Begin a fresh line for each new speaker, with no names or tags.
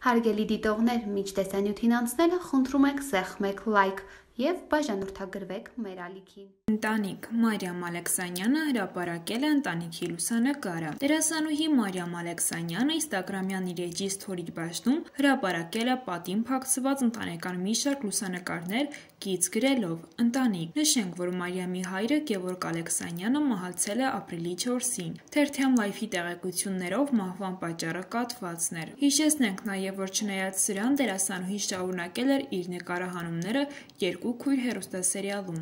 Հարգելի դիտողներ, մինչ տեսանյութին անցնելը խնդրում ենք սեղմեք լայք և բաժանորդագրվեք մեր ալիքին։
Ընտանիք Մարիամ Ալեքսանյանը հրապարակել է ընտանիքի լուսանկարը։ Դերասանուհի Մարիամ Ալեքսանյանը ինստագրամյան իր էջի սթորի բաժնում հրապարակել է պատին փակցված ընտանեկան մի շարք լուսանկարներ կից գրելով «Ընտանիք»։ Նշենք, որ Մարիամի հայրը Գևորգ Ալեքսանյանը մահացել է ապրիլի 4-ին։ Թերթյան Life-ի տեղեկություններով մահվան պատճառը կաթվածն էր։ Հիշեցնենք նաև, որ չնայած սրան, դերասանուհին շարունակել էր իր նկարահանումները երկու քույր հեռուստասերիալում։